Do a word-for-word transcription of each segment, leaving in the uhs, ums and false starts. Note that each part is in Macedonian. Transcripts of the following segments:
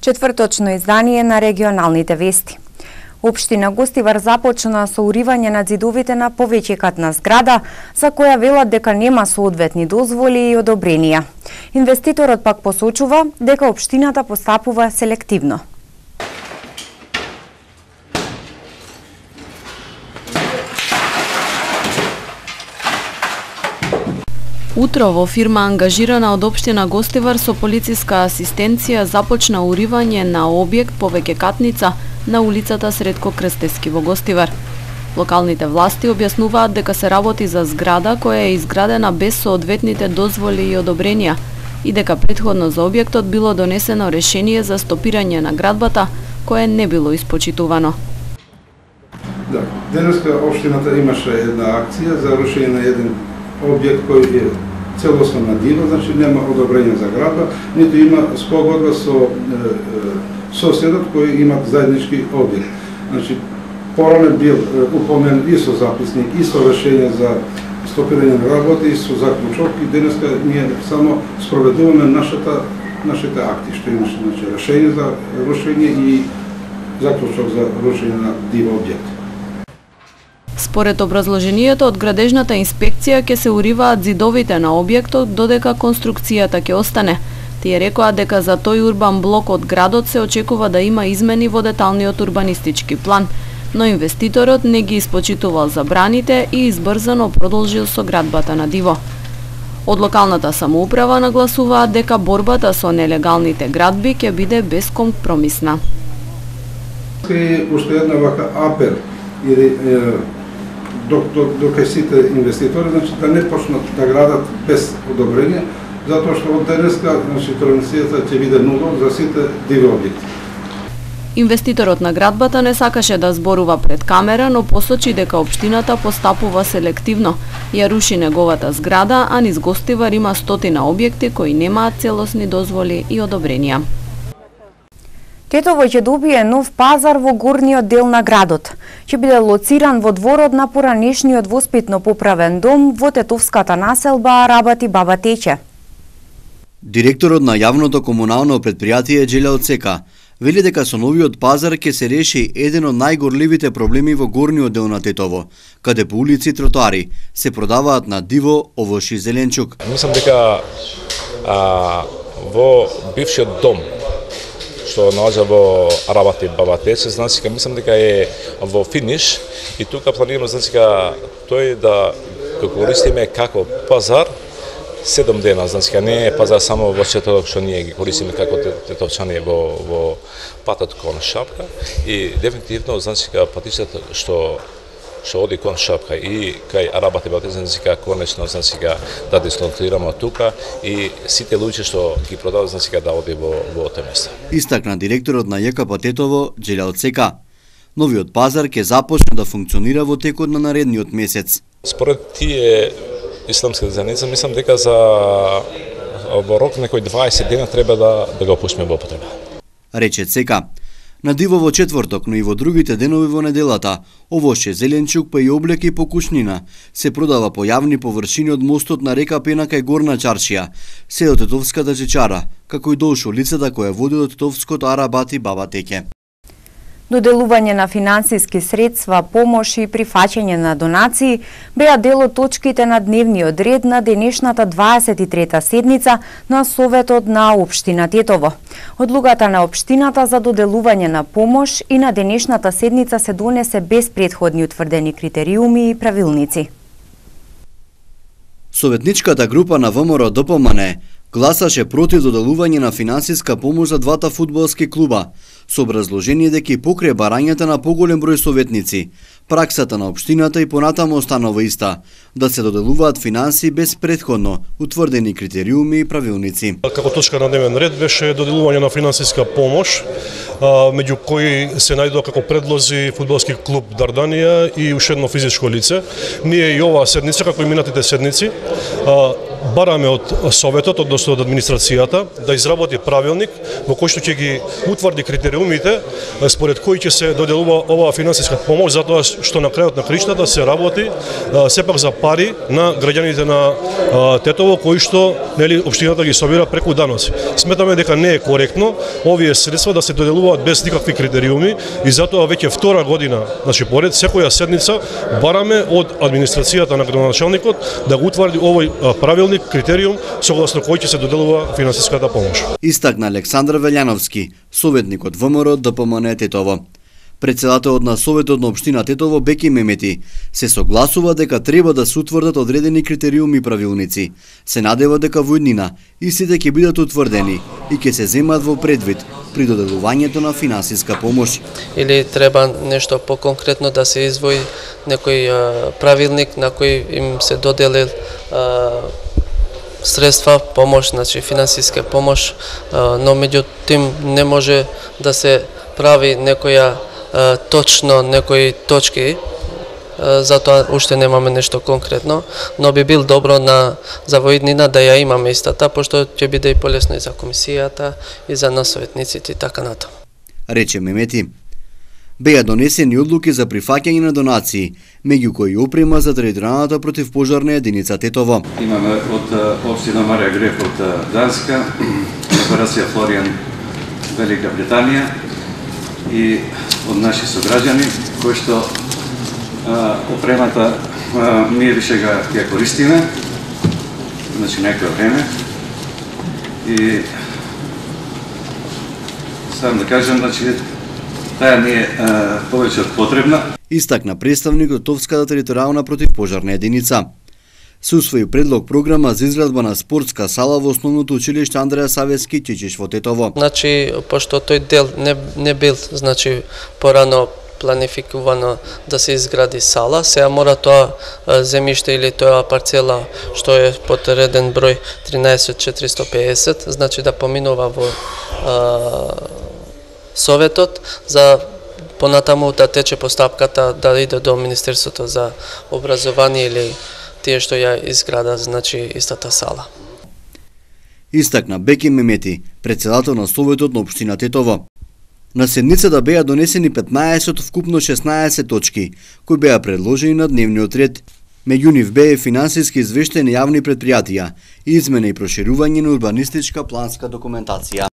Четврточно издание на регионалните вести. Општина Гостивар започна со уривање на ѕидовите на повеќекатна зграда, за која велат дека нема соодветни дозволи и одобренија. Инвеститорот пак посочува дека општината постапува селективно. Утро во фирма ангажирана од општина Гостивар со полициска асистенција започна уривање на објект повеќекатница на улицата Сретко Крстевски во Гостивар. Локалните власти објаснуваат дека се работи за зграда која е изградена без соодветните дозволи и одобренија и дека претходно за објектот било донесено решение за стопирање на градбата кое не било испочитувано. Да, денеска општината имаше една акција за рушење на еден објект кој е целосно на диво, значи нема одобрење за градба, ниту има спогодба со е, соседот кој имат заеднички објект. Значи, порано бил упомен и со записник, и со решение за стопирање на градбата, и со заклучок, и денеска ние само спроведуваме нашата, нашите акти, што имаше значи, решение за рушење и заклучок за рушење на диво објект. Според образложението од градежната инспекција ќе се уриваат ѕидовите на објектот додека конструкцијата ќе остане. Тие рекоа дека за тој урбан блок од градот се очекува да има измени во деталниот урбанистички план, но инвеститорот не ги испочитувал забраните и избрзано продолжил со градбата на диво. Од локалната самоуправа нагласуваат дека борбата со нелегалните градби ќе биде бескомпромисна. И уште една вака апел или до сите инвеститори, значи да не почнат да градат без одобрење, затоа што од денеска значи транзицијата ќе биде нула за сите диви објекти. Инвеститорот на градбата не сакаше да зборува пред камера, но посочи дека општината постапува селективно. Ја руши неговата зграда, а низ Гостивар има стотина објекти кои немаат целосни дозволи и одобренија. Тетово ќе добие нов пазар во горниот дел на градот. Ќе биде лоциран во дворот на поранешниот воспитно-поправен дом во тетовската населба Арабати Баба Тече. Директорот на јавното комунално предпријатие Џелја Оцека вели дека со новиот пазар ќе се реши еден од најгорливите проблеми во горниот дел на Тетово, каде по улици и тротоари се продаваат на диво овош и зеленчук. Мислам дека а, во бившиот дом што наоѓа во Арабати Баба Тече, значи мислам дека е во финиш и тука планираме значи тој да го користиме како пазар седум дена, значи не е пазар само во четврток што ние ги користиме како тетовчани во во патот кон Шапка и дефинитивно значи патишата што што оди кон Шапка и кај Арабати Баба Тече, значи конечно значи да дислоцираме тука и сите луѓе што ги продаваат значи да оди во во тоа место. Истакна директорот на ЈКП Тетово Џелја Оцека. Новиот пазар ќе започне да функционира во текот на наредниот месец. Според тие исламски заедница, мислам дека за во рок некои дваесет дена треба да да го пуштиме во употреба. Рече Цека. На диво во четврток, но и во другите денови во неделата, овоше зеленчук па и облеки по кушнина се продава по јавни површини од мостот на река Пена кај Горна Чаршија, се до Тетовската чечара, како и долж улицата која води до Тетовското Арабати Баба Тече. Доделување на финансиски средства, помош и прифаќање на донации беа дел од точките на дневниот ред на денешната дваесет и трета седница на Советот на општина Тетово. Одлуката на општината за доделување на помош и на денешната седница се донесе без претходни утврдени критериуми и правилници. Советничката група на ВМРО ДПМН гласаше против доделување на финансиска помош за двата фудбалски клуба, со образложение дека и покрај барањата на поголем број советници, праксата на општината и понатаму останува иста, да се доделуваат финанси без претходно утврдени критериуми и правилници. Како точка на дневен ред беше доделување на финансиска помош, меѓу кои се најдоа како предлози фудбалски клуб Дарданија и уште едно физичко лице. Ние и оваа седница, како и минатите седници, бараме од Советот, односно од администрацијата, да изработи правилник во кој што ќе ги утврди критериумите според кои ќе се доделува оваа финансиска помош, затоа што на крајот на криштата се работи сепак за пари на граѓаните на Тетово, кои што нели општината ги собира преку даноци. Сметаме дека не е коректно овие средства да се доделуваат без никакви критериуми и затоа веќе втора година, значи поред, секоја седница бараме од администрацијата на градоначалникот да го утврди овој правилник, критериум согласно кој ќе се доделува финансиската помош. Истакна Александар Велјановски, советник од ВМРО ДПМН Тетово. Председателот на Советот на општина Тетово Беки Мемети се согласува дека треба да се утврдат одредени критериуми и правилници. Се надева дека во иднина истите ќе бидат утврдени и ќе се земат во предвид при доделувањето на финансиска помош. Или треба нешто поконкретно да се извои некој а, правилник на кој им се додели а, средства, помош, значи финансиска помош, а, но меѓутоа не може да се прави некоја а, точно некои точки, а, затоа уште немаме нешто конкретно, но би бил добро на за во иднина да ја имаме истата, пошто ќе биде и полесно и за комисијата и за нас советниците и така натаму. Рече Мемети. Беа донесени одлуки за прифаќање на донации, меѓу кои опрема за територијалната противпожарна единица Тетово. Имаме од општина Марија Греф од Данска, операција Флоријан Велика Британија и од наши сограѓани кои што а, опремата а, ние више га ја користиме, значи некој време и сам да кажам, значи таа не е повеќе од потребна. Истакна представникот Товската територијална противпожарна единица. Се усвои предлог програма за изградба на спортска сала во основното училиште Андреја Савески Чичиш во Тетово. Значи, пошто тој дел не, не бил, значи, порано планификувано да се изгради сала, сега мора тоа земјиште или тоа парцела што е под реден број тринаесет четиристо педесет, значи да поминува во а, Советот за понатаму да тече постапката да иде до Министерството за образование или тие што ја изграда, значи истата сала. Истакна Беки Мемети, председател на Советот на општина Тетово. На седницата беа донесени петнаесет од вкупно шеснаесет точки, кои беа предложени на дневниот ред. Меѓу нив беа финансиски извештаи на јавни предпријатија и измена и проширување на урбанистичка планска документација.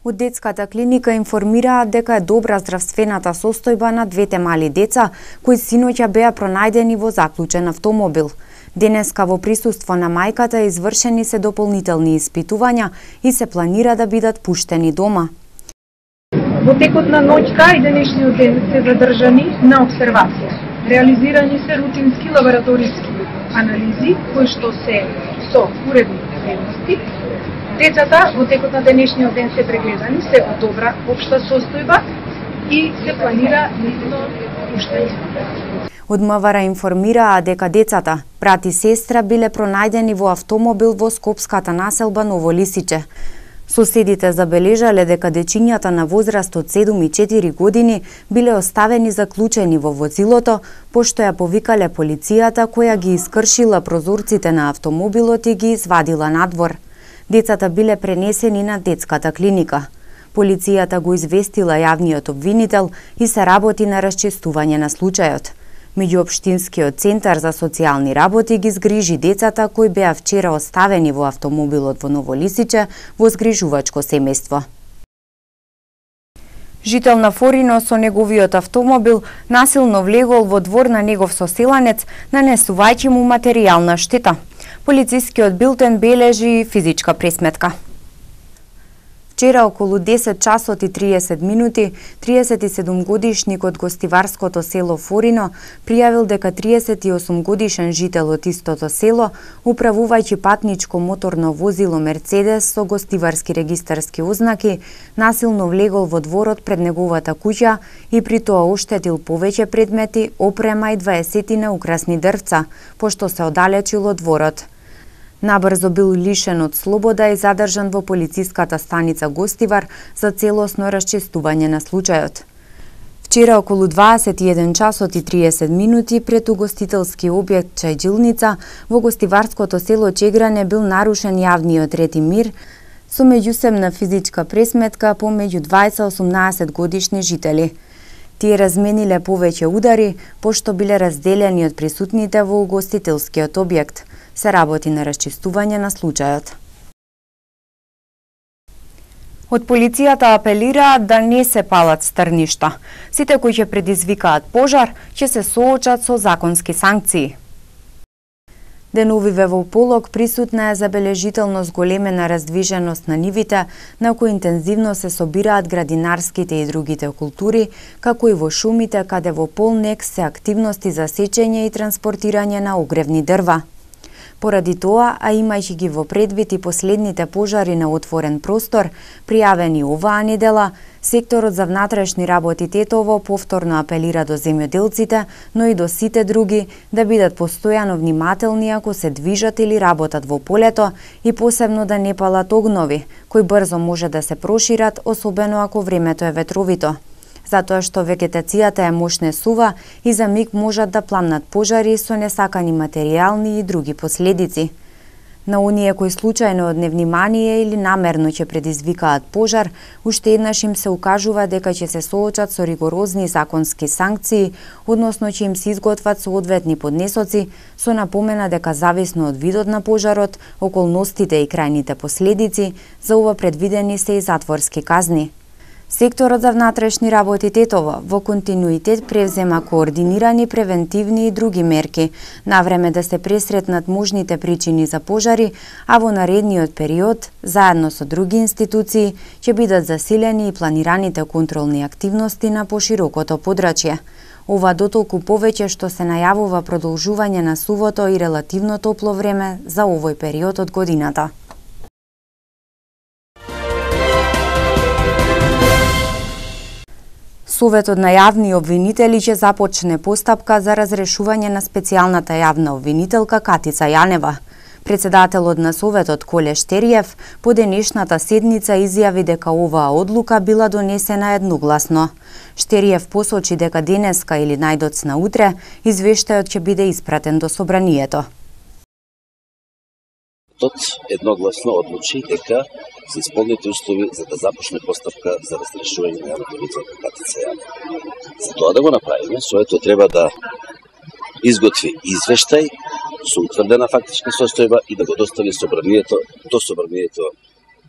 Од детската клиника информираат дека е добра здравствената состојба на двете мали деца, кои синоќа беа пронајдени во заклучен автомобил. Денеска во присуство на мајката извршени се дополнителни испитувања и се планира да бидат пуштени дома. Во текот на ноќта и денешниот ден се задржани на обсервација. Реализирани се рутински лабораториски анализи кои што се со уредни вредности. Децата во текот на денешниот ден се прегледани, се од добра општа состојба и се планира нивно пуштање. Од МВР информираа дека децата, брат и сестра, биле пронајдени во автомобил во скопската населба Ново Лисиче. Соседите забележале дека дечињата на возраст од седум и четири години биле оставени заклучени во возилото, пошто ја повикале полицијата која ги искршила прозорците на автомобилот и ги извадила надвор. Децата биле пренесени на детската клиника. Полицијата го известила јавниот обвинител и се работи на расчистување на случајот. Меѓуопштинскиот центар за социјални работи ги згрижи децата кои беа вчера оставени во автомобилот во Ново Лисиче во згрижувачко семејство. Жител на Форино со неговиот автомобил насилно влегол во двор на негов соселанец, нанесувајќи му материјална штета. Полицискиот билтен бележи физичка пресметка. Вчера околу десет часот и триесет минути, триесет и седум годишник од гостиварското село Форино пријавил дека триесет и осум годишен жител од истото село, управувајќи патничко моторно возило Мерцедес со гостиварски регистарски ознаки, насилно влегол во дворот пред неговата куќа и при тоа оштетил повеќе предмети, опрема и дваесетина украсни дрвца, пошто се оддалечил од дворот. Набрзо бил лишен од слобода и задржан во полициската станица Гостивар за целосно расчистување на случајот. Вчера околу дваесет и еден часот и триесет минути пред угостителски објект Чајджилница во гостиварското село Чегране бил нарушен јавниот ред и мир со меѓусебна физичка пресметка помеѓу дваесет и осумнаесет годишни жители. Тие размениле повеќе удари, пошто биле разделени од присутните во угостителскиот објект. Се работи на расчистување на случајот. Од полицијата апелираат да не се палат стрништа. Сите кои ќе предизвикаат пожар ќе се соочат со законски санкции. Деновиве во Полог присутна е забележително зголемена раздвиженост на нивите, на кои интензивно се собираат градинарските и другите култури, како и во шумите, каде во Полнек се активности за сечење и транспортирање на огревни дрва. Поради тоа, а имајќи ги во предвид и последните пожари на отворен простор, пријавени оваа недела, секторот за внатрешни работи Тетово повторно апелира до земјоделците, но и до сите други, да бидат постојано внимателни ако се движат или работат во полето и посебно да не палат огнови, кои брзо може да се прошират, особено ако времето е ветровито. Затоа што вегетацијата е мошнесува и за миг можат да пламнат пожари со несакани материјални и други последици. На оние кои случајно од невнимание или намерно ќе предизвикаат пожар, уште еднаш им се укажува дека ќе се соочат со ригорозни законски санкции, односно ќе им се изготват соодветни поднесоци, со напомена дека зависно од видот на пожарот, околностите и крајните последици, за ова предвидени се и затворски казни. Секторот за внатрешни работи Тетово во континуитет превзема координирани превентивни и други мерки, навреме да се пресретнат можните причини за пожари, а во наредниот период, заедно со други институции, ќе бидат засилени и планираните контролни активности на поширокото подрачје. Ова дотолку повеќе што се најавува продолжување на сувото и релативно топло време за овој период од годината. Советот на јавни обвинители ќе започне постапка за разрешување на специјалната јавна обвинителка Катица Јанева. Председателот на Советот Коле Штериев по денешната седница изјави дека оваа одлука била донесена едногласно. Штериев посочи дека денеска или најдоцна утре извештајот ќе биде испратен до собранието. Тот едногласно одлучи дека се исполнети услови за да започне постапка за разрешување на јавната обвинителка Катица Јанева. За тоа да го направиме, Советот треба да изготви извештај со утврдена фактичка состојба и да го достави собранието до собранието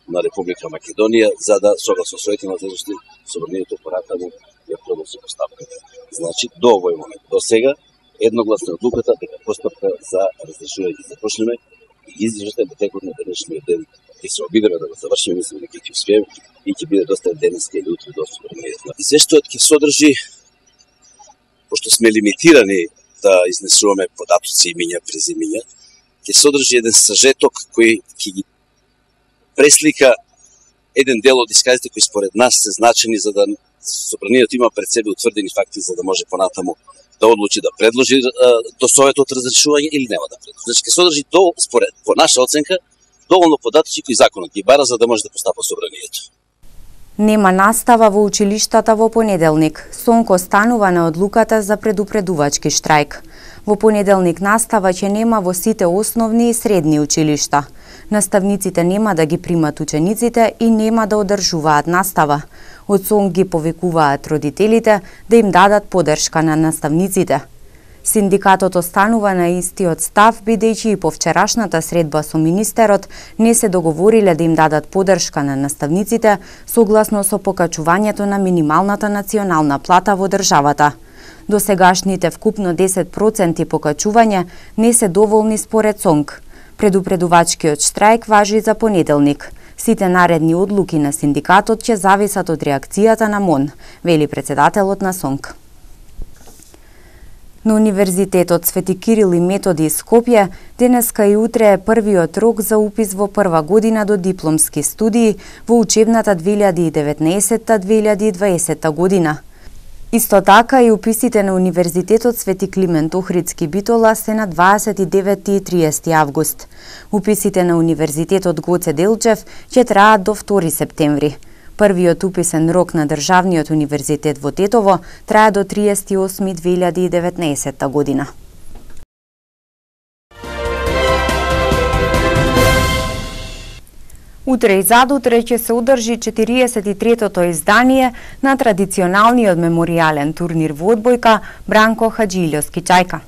на Република Македонија, за да согласно своите надлежности собранието поратаму ја продолжи постапката. Значи, до овој момент, до сега, едногласно одлуката дека постапка за разрешување ќе започнеме и извештај во текот на денешниот ден ќе се обидеме да го завршиме, мислам дека ќе успееме и ќе биде доставен денеска или утре до собранието. Извештајот ќе содржи, пошто сме лимитирани да изнесуваме податоци, имиња, презимиња, ќе содржи еден сажеток кој ќе ги преслика еден дел од исказите кои според нас се значени за да собранието има пред себе утврдени факти за да може понатаму да одлучи да предложи до Советот разрешување или нема да предложи. Значи ќе содржи до според по наша оценка доволно податоци кои законот ги бара за да може да постапа собранието. Нема настава во училиштата во понеделник. Сонко станува на одлуката за предупредувачки штрајк. Во понеделник настава ќе нема во сите основни и средни училишта. Наставниците нема да ги примат учениците и нема да одржуваат настава. Од СОНК ги повикуваат родителите да им дадат поддршка на наставниците. Синдикатот останува на истиот став, бидејќи и по вчерашната средба со министерот не се договориле да им дадат поддршка на наставниците согласно со покачувањето на минималната национална плата во државата. До сегашните вкупно десет проценти покачување не се доволни според СОНК. Предупредувачкиот штрајк важи за понеделник. Сите наредни одлуки на синдикатот ќе зависат од реакцијата на МОН, вели председателот на СОНК. На Универзитетот Свети Кирил и Методи Скопје денеска и утре е првиот рок за упис во прва година до дипломски студии во учебната две илјади и деветнаесетта две илјади и дваесетта година. Исто така и уписите на Универзитетот Свети Климент Охридски Битола се на дваесет и деветти и триесети август. Уписите на Универзитетот Гоце Делчев ќе траат до втори септември. Првиот уписен рок на Државниот универзитет во Тетово трае до триесети осми две илјади и деветнаесетта година. Утре и задутре ќе се одржи четириесет и третото издание на традиционалниот меморијален турнир во одбојка Бранко Хаджилјовски Чајка.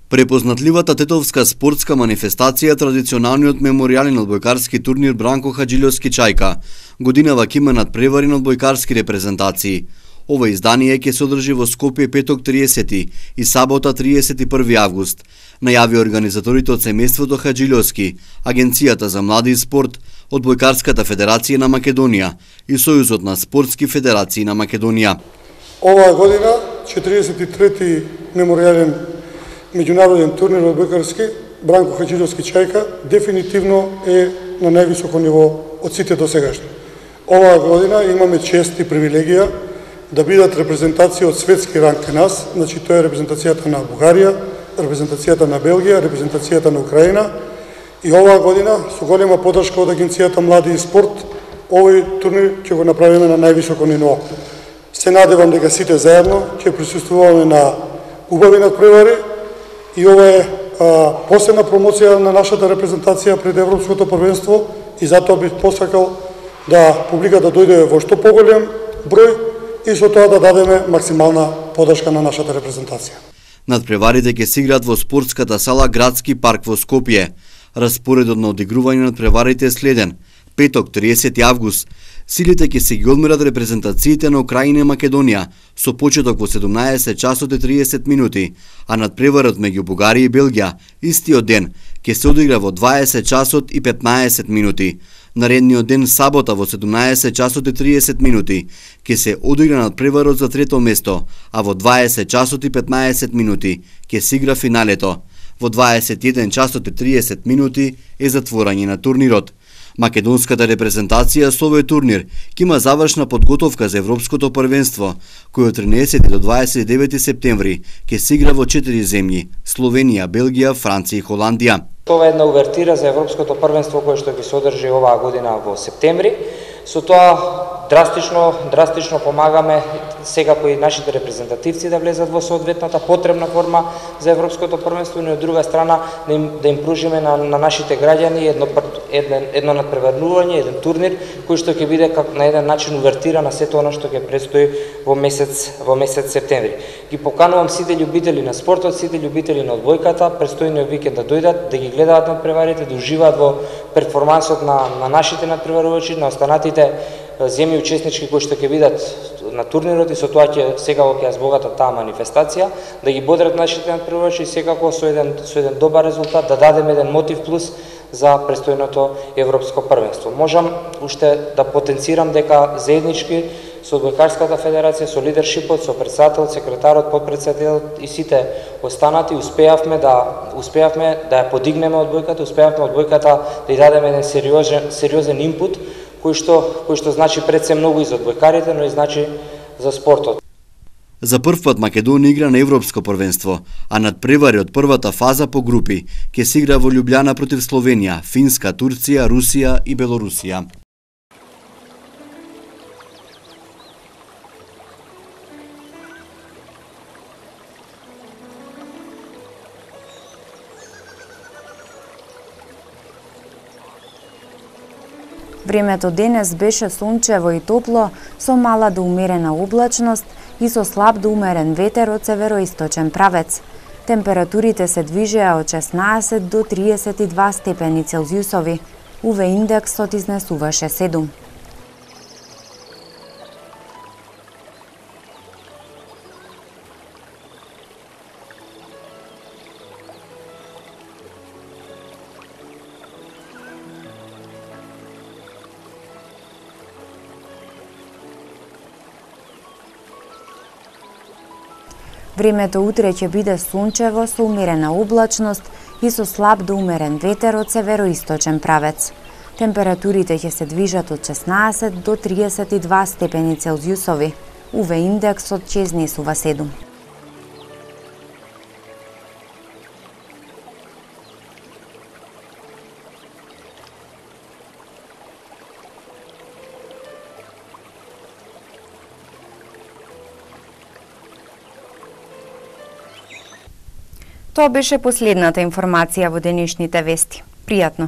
Препознатливата тетовска спортска манифестација, традиционалниот меморијален одбојкарски турнир Бранко Хаджилјовски Чајка, годинава ќе има надпревари на одбојкарски репрезентации. Ова издание ќе се одржи во Скопје петок триесети и сабота триесет и први август, најави организаторите од семејството Хаджилјовски, Агенцијата за млади и спорт, Одбојкарската федерација на Македонија и Сојузот на спортски федерации на Македонија. Оваа година четириесет и трети меморијален меѓународен турнир одбојкарски Бранко Хаджилјовски Чајка дефинитивно е на највисоко ниво од сите досегашни. Оваа година имаме чест и привилегија да бидат репрезентација од светски ранг кај нас, значи тоа е репрезентацијата на Бугарија, репрезентацијата на Белгија, репрезентацијата на Украина, и оваа година со голема поддршка од Агенцијата млади и спорт овој турнир ќе го направиме на највисоко ниво. Се надевам дека сите заедно ќе присуствуваме на убави надпревари и ова е а, посебна промоција на нашата репрезентација пред Европското првенство и затоа бих посакал да публиката дојде во што поголем број и со тоа да дадеме максимална поддршка на нашата репрезентација. Надпреварите ќе се играат во спортската сала Градски парк во Скопје. Распоредот на одигрување на надпреварите е следен. Петок триесети август силите ќе се ги одмерат репрезентациите на Украина и Македонија со почеток во седумнаесет часот и триесет минути, а надпреварот меѓу Бугарија и Белгија истиот ден ќе се одигра во дваесет часот и петнаесет минути. Наредниот ден, сабота, во седумнаесет часот и триесет минути, ќе се одигра надпреварот за трето место, а во дваесет часот и петнаесет минути ќе се игра финалето. Во дваесет и еден часот и триесет минути е затворање на турнирот. Македонската репрезентација со овој турнир ќе има завршна подготовка за Европското првенство, кој од тринесети до дваесет и девети септември ќе се игра во четири земји: Словенија, Белгија, Франција и Холандија. Ова е една увертира за Европското првенство кое што ќе се одржи оваа година во септември. Со тоа драстично, драстично помагаме секако и нашите репрезентативци да влезат во соодветната потребна форма за Европското првенство, но од друга страна да им, да им пружиме на, на нашите граѓани едно, едно, едно надпреварување, еден турнир кој што ќе биде как, на еден начин увертира на сето оно што ќе предстои во месец, во месец септември. Ги поканувам сите љубители на спортот, сите љубители на одбојката, престојниот викенд да дојдат, да ги гледаат надпреварите, да уживаат во перформансот на, на нашите надпреварувачи, на останатите земји учеснички кои што ќе бидат на турнирот, и со тоа ќе секако ќе збогата таа манифестација, да ги бодрат нашите надпреварувачи и секако со еден со еден добар резултат да дадеме еден мотив плюс за престојното европско првенство. Можам уште да потенцирам дека заеднички со Одбојкарската федерација, со лидершипот, со председателот, секретарот, подпредседателот и сите останати успеавме да успеавме да ја подигнеме одбојката, успеавме одбојката да ја дадеме еден сериозен сериозен инпут кој што кој што значи пред се многу и за одбојкарите, но и значи за спортот. За прв пат Македонија игра на Европско првенство, а надпревари од првата фаза по групи ќе се игра во Љубљана против Словенија, Финска, Турција, Русија и Белорусија. Времето денес беше сончево и топло, со мала до умерена облачност и со слаб до умерен ветер од североисточен правец. Температурите се движеа од шеснаесет до триесет и два степени Целзиусови. У В индексот изнесуваше седум. Времето утре ќе биде сончево со умерена облачност и со слаб до умерен ветер од североисточен правец. Температурите ќе се движат од шеснаесет до триесет и два степени Целзиусови. У В индексот ќе изнесува седум. Тоа беше последната информација во денешните вести. Пријатно!